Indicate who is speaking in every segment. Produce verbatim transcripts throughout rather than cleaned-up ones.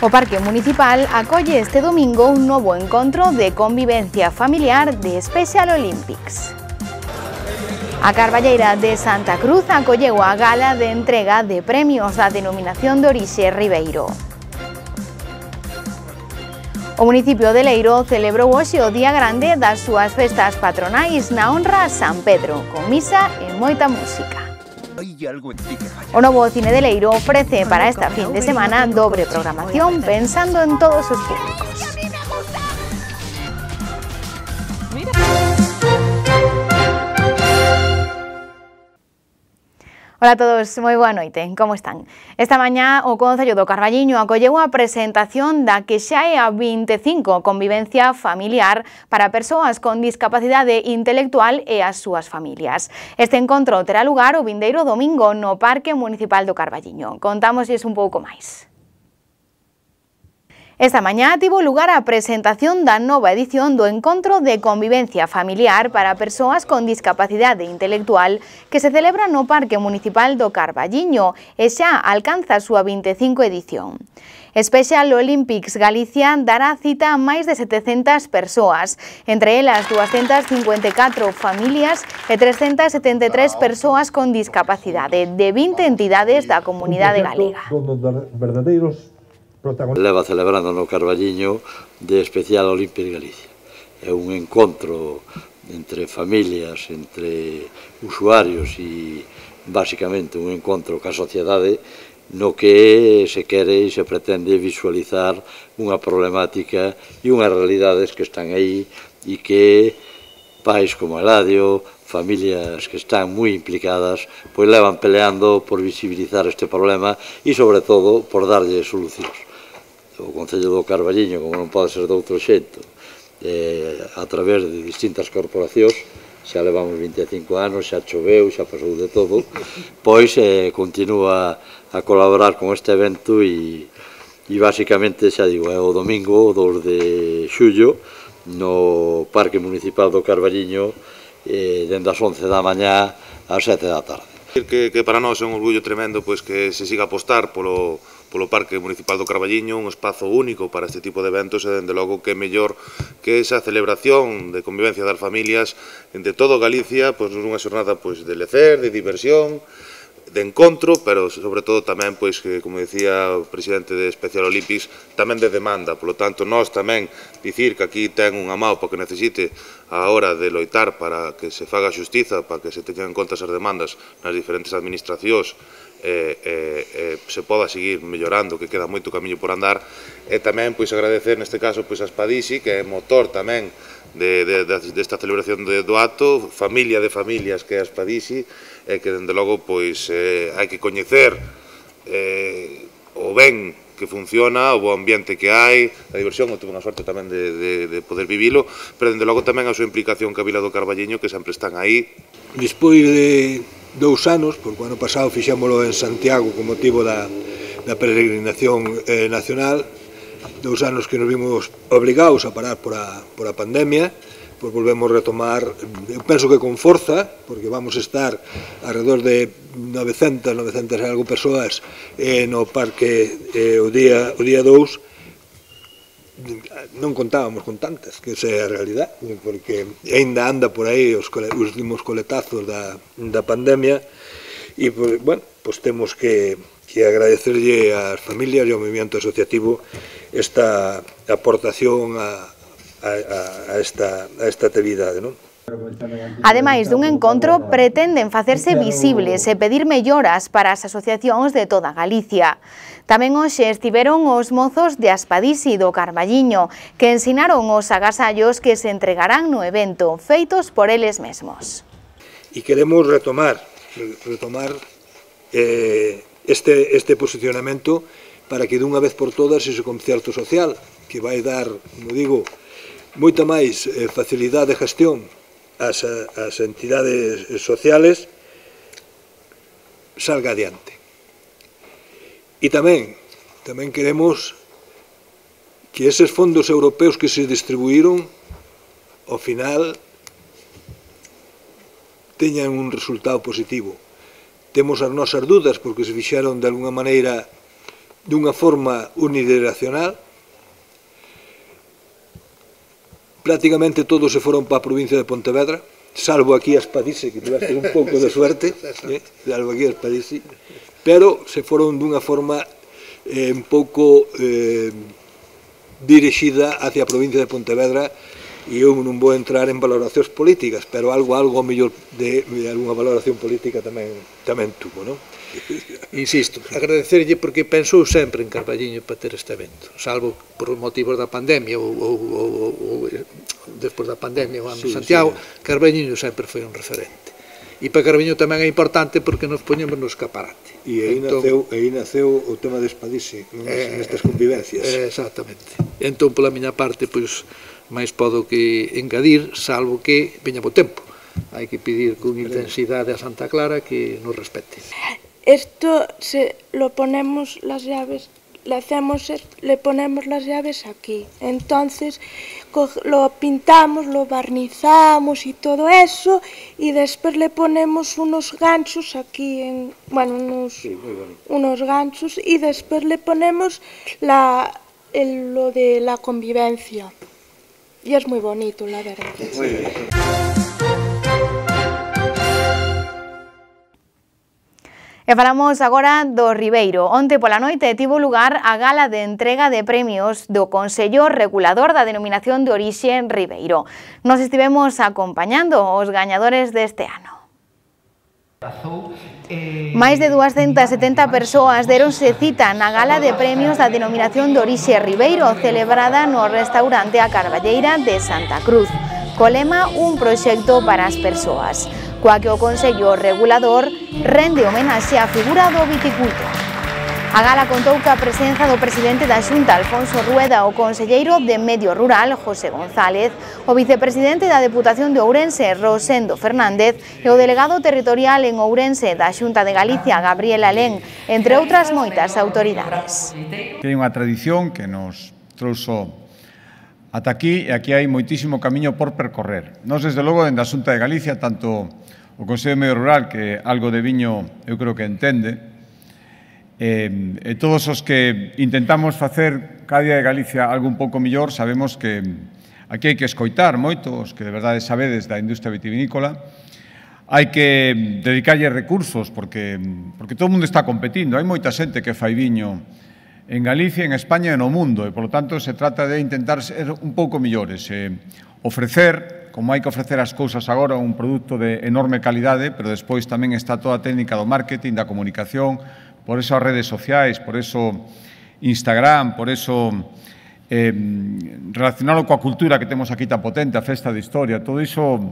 Speaker 1: O Parque Municipal acolle este domingo un novo encontro de convivencia familiar de Special Olympics. A Carballeira de Santa Cruz acolleu a gala de entrega de premios da denominación de orixe Ribeiro. O municipio de Leiro celebrou hoxe o Día Grande das súas festas patronais na honra a San Pedro, con misa e moita música. O novo Cine de Leiro ofrece para esta fin de semana dobre programación pensando en todos os públicos. Ola a todos, moi boa noite, como están? Esta mañá o Concello do Carballiño acolleu a presentación da que xa é a vinte e cinco convivencia familiar para persoas con discapacidade intelectual e as súas familias. Este encontro terá lugar o vindeiro domingo no Parque Municipal do Carballiño. Contámoslles un pouco máis. Esta mañá tivo lugar a presentación da nova edición do Encontro de Convivencia Familiar para Persoas con Discapacidade Intelectual que se celebra no Parque Municipal do Carballiño e xa alcanza a súa vinte e cinco edición. Special Olympics Galicia dará cita a máis de setecentas persoas, entre elas duascentas cincuenta e catro familias e trescentas setenta e tres persoas con discapacidade de vinte entidades da comunidade galega.
Speaker 2: Leva celebrando no Carballiño de Special Olympics Galicia. É un encontro entre familias, entre usuarios e basicamente un encontro ca sociedade no que se quere e se pretende visualizar unha problemática e unhas realidades que están aí e que pais como Eladio, familias que están moi implicadas, pois levan peleando por visibilizar este problema e sobre todo por darlle solucións. O Concello do Carballiño, como non pode ser de outro xeito, eh, a través de distintas corporacións, xa levamos vinte e cinco anos, xa choveu, xa pasou de todo, pois eh, continúa a colaborar con este evento e, e basicamente, xa digo, é o domingo, o dos de xullo, no Parque Municipal do Carballiño, eh, dende as once da mañá ás sete da tarde.
Speaker 3: Que, que para nós é un orgullo tremendo pois, que se siga a apostar polo, polo Parque Municipal do Carballiño, un espazo único para este tipo de eventos e, dende logo, que é mellor que esa celebración de convivencia das familias entre todo Galicia, pois, unha xornada pois, de lecer, de diversión, de encontro, pero sobre todo tamén, pois, que, como decía o presidente de Special Olympics, tamén de demanda. Por lo tanto, nós tamén dicir que aquí ten unha maupa que necesite a hora de loitar para que se faga xustiza, para que se teñan en conta as demandas nas diferentes administracións, e, e, e se poda seguir mellorando, que queda moito camiño por andar, e tamén pois agradecer neste caso pois a Spadisi, que é motor tamén de, de, de, desta celebración de, do acto, familia de familias que é a Spadisi, e que dende logo pois eh, hai que coñecer eh, o ben que funciona, o bo ambiente que hai, a diversión, eu tuve unha sorte tamén de, de, de poder vivilo, pero dende logo tamén a súa implicación ca Vila do Carballiño, que sempre están aí.
Speaker 4: Despois de dous anos, porque o ano pasado fixémolo en Santiago con motivo da, da peregrinación eh, nacional, dous anos que nos vimos obligados a parar por a, por a pandemia, pois volvemos retomar, eu penso que con forza, porque vamos a estar alrededor de novecentas, novecentas e algo persoas eh, no parque eh, o día o día dous. Non contábamos con tantas, que esa é a realidade, porque ainda anda por aí os, os últimos coletazos da, da pandemia e, pues, bueno, pues temos que, que agradecerlle ás familias e ao movimento asociativo esta aportación a A, a, esta, a esta actividade, non?
Speaker 1: Ademais dun encontro, pretenden facerse visibles e pedir melloras para as asociacións de toda Galicia. Tamén hoxe estiveron os mozos de Aspadisi do Carballiño, que ensinaron os agasallos que se entregarán no evento, feitos por eles mesmos.
Speaker 4: E queremos retomar, retomar eh, este, este posicionamento para que dunha vez por todas ese concerto social, que vai dar, como digo, moita máis eh, facilidade de gestión ás, ás entidades sociales, salga adiante. E tamén, tamén queremos que eses fondos europeos que se distribuíron, ao final, teñan un resultado positivo. Temos as nosas dudas, porque se fixeron de alguna maneira dunha forma unidireccional. Prácticamente todos se foron para a provincia de Pontevedra, salvo aquí a Espadice, que tiveste un pouco de suerte, eh, salvo aquí a Espadice, pero se foron dunha forma eh, un pouco eh, dirixida hacia a provincia de Pontevedra, e eu non vou entrar en valoracións políticas, pero algo, algo mellor de, de alguna valoración política tamén, tamén tuvo, non?
Speaker 5: Insisto, agradecerlle porque pensou sempre en Carballiño para ter este evento, salvo por motivos da pandemia ou, ou, ou, ou despois da pandemia o ano sí, Santiago, sí. Carballiño sempre foi un referente. E para Carballiño tamén é importante porque nos poñemos no escaparate.
Speaker 4: E aí, entón, naceu, aí naceu o tema de Espadice, eh, nestas convivencias.
Speaker 5: Eh, exactamente. Entón, pola miña parte, pois, máis podo que engadir, salvo que veña bo tempo. Hai que pedir con intensidade a Santa Clara que nos respete.
Speaker 6: Esto se lo ponemos las llaves, le hacemos, le ponemos las llaves aquí. Entonces lo pintamos, lo barnizamos y todo eso, y después le ponemos unos ganchos aquí, en, bueno, unos, sí, unos ganchos, y después le ponemos la, el, lo de la convivencia. Y es muy bonito, la verdad. Muy bien.
Speaker 1: E falamos agora do Ribeiro. Onte pola noite tivo lugar a gala de entrega de premios do Consello Regulador da Denominación de Orixe Ribeiro. Nos estivemos acompañando os gañadores deste ano. Máis de duascentas setenta persoas deronse cita na gala de premios da Denominación de Orixe Ribeiro, celebrada no restaurante A Carballeira de Santa Cruz, co lema Un proxecto para as persoas, coa que o Consello Regulador rende homenaxe á figura do viticultor. A gala contou ca presenza do presidente da Xunta, Alfonso Rueda, o conselleiro de Medio Rural, José González, o vicepresidente da Deputación de Ourense, Rosendo Fernández, e o delegado territorial en Ourense da Xunta de Galicia, Gabriel Alén, entre outras moitas autoridades.
Speaker 7: Que hai unha tradición que nos trouxo ata aquí, e aquí hai moitísimo camiño por percorrer. Nos, desde logo, dende a Xunta de Galicia, tanto o Consello de Medio Rural, que algo de viño eu creo que entende, e, e todos os que intentamos facer cada día de Galicia algo un pouco millor, sabemos que aquí hai que escoitar moito, os que de verdade sabedes da industria vitivinícola, hai que dedicarlle recursos, porque, porque todo o mundo está competindo, hai moita xente que fai viño en Galicia, en España e no mundo, e, polo tanto, se trata de intentar ser un pouco millores, e ofrecer, como hai que ofrecer as cousas agora, un produto de enorme calidade, pero despois tamén está toda a técnica do marketing, da comunicación, por eso as redes sociais, por eso Instagram, por eso eh, relacionado coa cultura que temos aquí tan potente, a festa de historia, todo iso,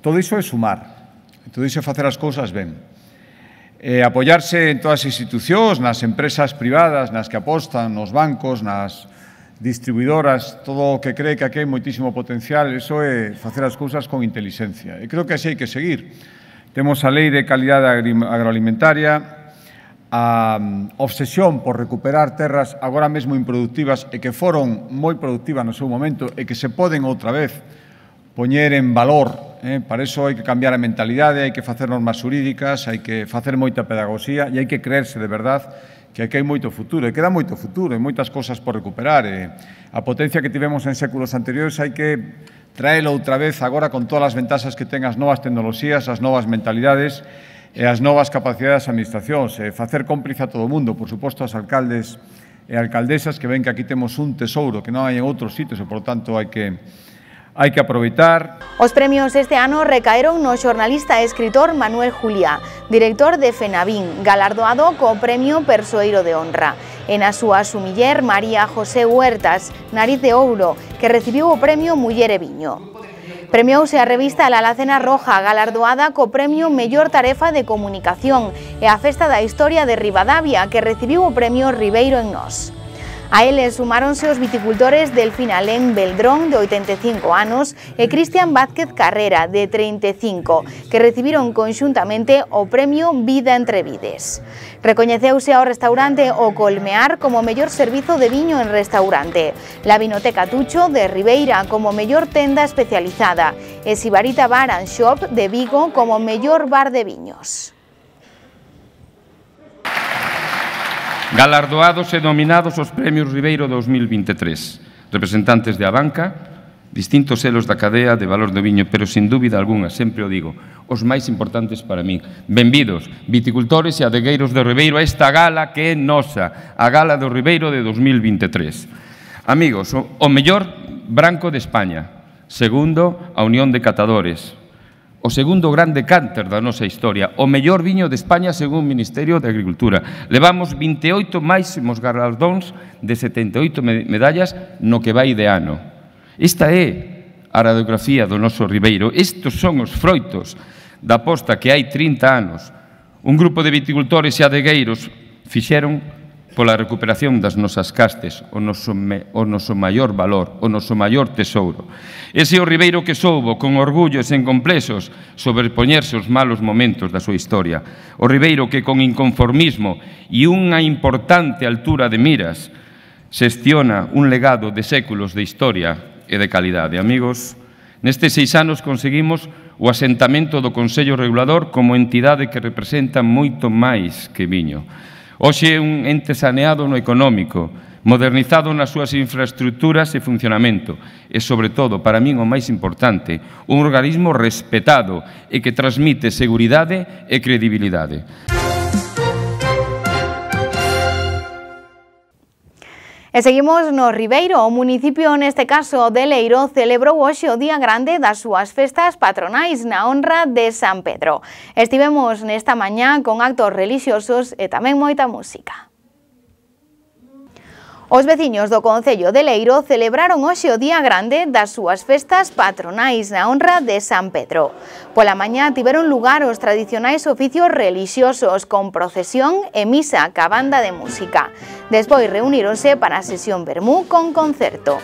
Speaker 7: todo iso é sumar, todo iso é facer as cousas ben. Eh, apoiarse en todas as institucións, nas empresas privadas, nas que apostan, nos bancos, nas distribuidoras, todo o que cree que aquí hai moitísimo potencial, iso é facer as cousas con inteligencia. E creo que así hai que seguir. Temos a Lei de Calidade Agroalimentaria, a obsesión por recuperar terras agora mesmo improductivas e que foron moi productivas no seu momento e que se poden outra vez poñer en valor. Eh? Para iso hai que cambiar a mentalidade, hai que facer normas xurídicas, hai que facer moita pedagogía e hai que creerse de verdade que aquí hai moito futuro, e queda moito futuro, e moitas cosas por recuperar. E a potencia que tivemos en séculos anteriores hai que traela outra vez agora con todas as ventaxas que ten as novas tecnoloxías, as novas mentalidades e as novas capacidades das administracións, e facer cómplice a todo o mundo, por suposto, aos alcaldes e alcaldesas que ven que aquí temos un tesouro que non hai en outros sitios e, por tanto, hai que hai que aproveitar.
Speaker 1: Os premios este ano recaeron no xornalista e escritor Manuel Juliá, director de FENAVIN, galardoado co Premio Persoeiro de Honra, e na súa sumiller María José Huertas, Nariz de Ouro, que recibiu o Premio Muller e Viño. Premiouse a revista La Alacena Roja, galardoada co Premio Mellor Tarefa de Comunicación, e a Festa da Historia de Ribadavia, que recibiu o Premio Ribeiro en Nós. A eles sumáronse os viticultores Delfín Alén Beldrón, de oitenta e cinco anos, e Cristian Vázquez Carrera, de trinta e cinco, que recibiron conxuntamente o Premio Vida entre Vides. Recoñeceuse ao restaurante O Colmear como mellor servizo de viño en restaurante, la Vinoteca Tucho de Ribeira como mellor tenda especializada e Sibarita Bar and Shop de Vigo como mellor bar de viños.
Speaker 8: Galardoados e nominados aos Premios Ribeiro dos mil vinte e tres. Representantes de Abanca, distintos selos da cadea de valor do viño, pero sin dúbida algunha, sempre o digo, os máis importantes para min. Benvidos, viticultores e adegueiros do Ribeiro, a esta gala que é nosa, a Gala do Ribeiro de dos mil vinte e tres. Amigos, o, o mellor branco de España. Segundo, a Unión de Catadores. O segundo grande cánter da nosa historia, o mellor viño de España según o Ministerio de Agricultura. Levamos vinte e oito máximos galardóns de setenta e oito medallas no que vai de ano. Esta é a radiografía do noso Ribeiro. Estes son os froitos da aposta que hai trinta anos. Un grupo de viticultores e adegueiros fixeron pola recuperación das nosas castes, o noso, me, o noso maior valor, o noso maior tesouro. Ese é o Ribeiro que soubo, con orgullo e sen complexos, sobrepoñerse os malos momentos da súa historia. O Ribeiro que, con inconformismo e unha importante altura de miras, xestiona un legado de séculos de historia e de calidade. Amigos, nestes seis anos conseguimos o asentamento do Consello Regulador como entidade que representa moito máis que viño. Hoxe é un ente saneado no económico, modernizado nas súas infraestructuras e funcionamento e, sobre todo, para min o máis importante, un organismo respetado e que transmite seguridade e credibilidade.
Speaker 1: E seguimos no Ribeiro. O municipio, neste caso de Leiro, celebrou hoxe o Día Grande das súas festas patronais na honra de San Pedro. Estivemos nesta mañá con actos relixiosos e tamén moita música. Os veciños do Concello de Leiro celebraron hoxe o Día Grande das súas festas patronais na honra de San Pedro. Pola mañá tiveron lugar os tradicionais oficios relixiosos con procesión e misa ca banda de música. Despois reuníronse para a sesión vermú con concerto.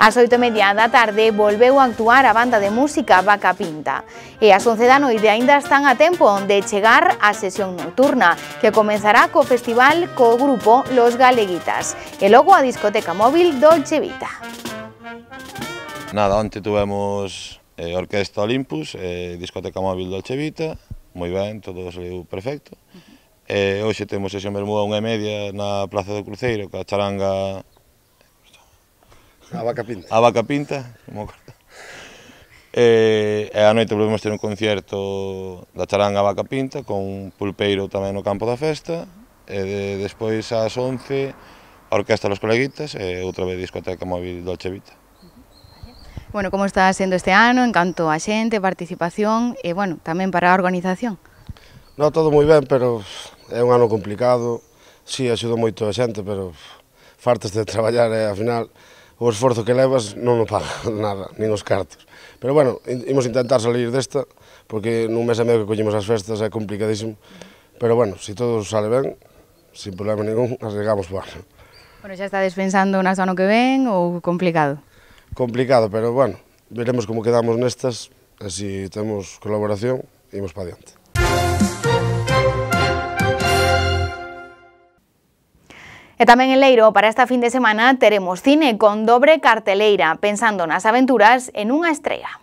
Speaker 1: Ás oito e media da tarde volveu a actuar a banda de música Vaca Pinta e ás once da noite aínda están a tempo de chegar á sesión nocturna que comenzará co festival co grupo Los Galeguitas e logo a discoteca móvil Dolce Vita.
Speaker 9: Nada, onte tuvemos eh, Orquesta Olympus, eh, discoteca móvil Dolce Vita, moi ben, todo saliu perfecto. E hoxe temos sesión vermú a unha e media na Plaza do Cruceiro, ca charanga
Speaker 10: A Vaca Pinta.
Speaker 9: A Vaca Pinta, como corta. E, e a noite volvemos ter un concierto da charanga a Vaca Pinta con un pulpeiro tamén no campo da festa e de, despois ás once a Orquesta Los Coleguitas e outra vez discoteca móvil Dolce Vita.
Speaker 1: Bueno, como está sendo este ano en canto a xente, participación e, bueno, tamén para a organización?
Speaker 10: No, todo moi ben, pero é un ano complicado. Si, axudou moito a xente, pero fartas de traballar e, ao final, o esforzo que levas non o paga nada, nin os cartos. Pero, bueno, imos intentar salir desta, porque nun mes e medio que collemos as festas é complicadísimo. Pero, bueno, se todo sale ben, sin problema ningún, arriesgamos por ano.
Speaker 1: Bueno, xa estades pensando nas ano que ven ou complicado?
Speaker 10: Complicado, pero, bueno, veremos como quedamos nestas, e se temos colaboración, imos para adiante.
Speaker 1: E tamén en Leiro, para esta fin de semana, teremos cine con dobre carteleira, pensando nas aventuras en unha estrea.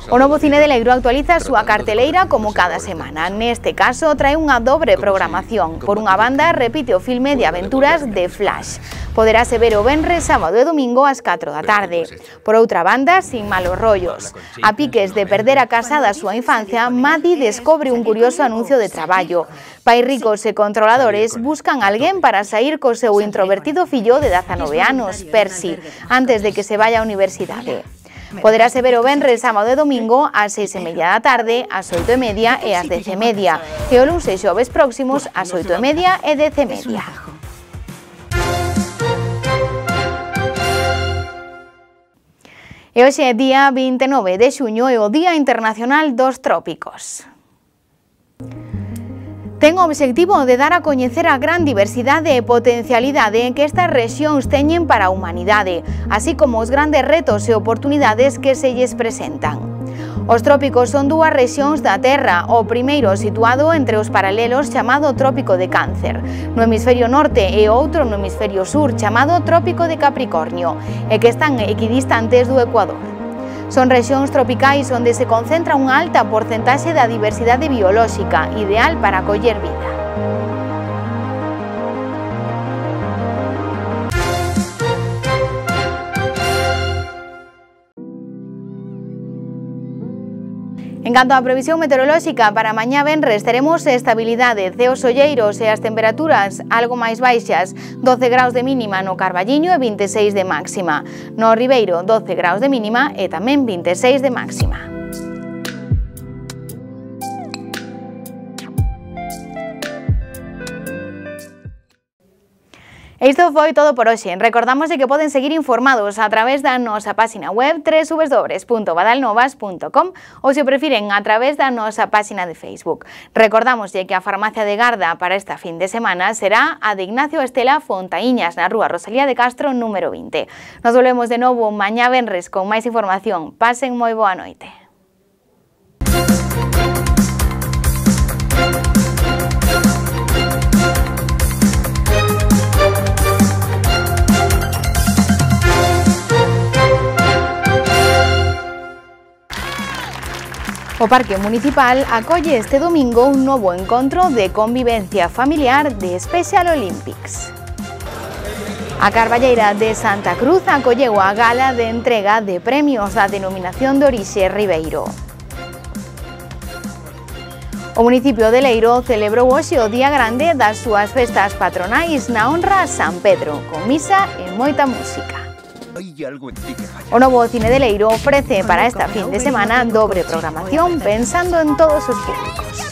Speaker 1: O novo cine de Leiro actualiza a súa carteleira como cada semana. Neste caso, trae unha dobre programación. Por unha banda, repite o filme de aventuras de Flash. Poderase ver o venres, sábado e domingo ás catro da tarde. Por outra banda, Sin malos rollos. A piques de perder a casa da súa infancia, Maddie descobre un curioso anuncio de traballo. Pais ricos e controladores buscan alguén para sair co seu introvertido fillo de dezanove anos, Percy, antes de que se vaya á universidade. Poderase ver o venres, sábado e domingo ás seis e media da tarde, ás oito e media e ás dez e media, e o luns e xoves próximos ás oito e media e dez e media. E hoxe é día vinte e nove de xuño e o Día Internacional dos Trópicos. Ten o obxectivo de dar a coñecer a gran diversidade e potencialidade que estas rexións teñen para a humanidade, así como os grandes retos e oportunidades que se lles presentan. Os trópicos son dúas rexións da Terra, o primeiro situado entre os paralelos chamado Trópico de Cáncer, no hemisferio norte e outro no hemisferio sur chamado Trópico de Capricornio, e que están equidistantes do Ecuador. Son rexións tropicais onde se concentra unha alta porcentaxe da diversidade biolóxica, ideal para acoller vida. En canto á previsión meteorolóxica, para mañá venres teremos estabilidade, ceos olleiros e as temperaturas algo máis baixas, doce graus de mínima no Carballiño e vinte e seis de máxima. No Ribeiro, doce graus de mínima e tamén vinte e seis de máxima. E isto foi todo por hoxe. Recordamos que poden seguir informados a través da nosa página web w w w punto badalnovas punto com ou, se o prefiren, a través da nosa página de Facebook. Recordamos que a farmacia de garda para esta fin de semana será a de Ignacio Estela Fontaíñas, na rúa Rosalía de Castro, número vinte. Nos volvemos de novo mañá venres con máis información. Pasen moi boa noite. O Parque Municipal acolle este domingo un novo encontro de convivencia familiar de Special Olympics. A Carballeira de Santa Cruz acolleu a gala de entrega de premios da denominación de orixe Ribeiro. O municipio de Leiro celebrou hoxe o Día Grande das súas festas patronais na honra a San Pedro, con misa e moita música. O novo Cine de Leiro ofrece para esta fin de semana dobre programación pensando en todos os públicos.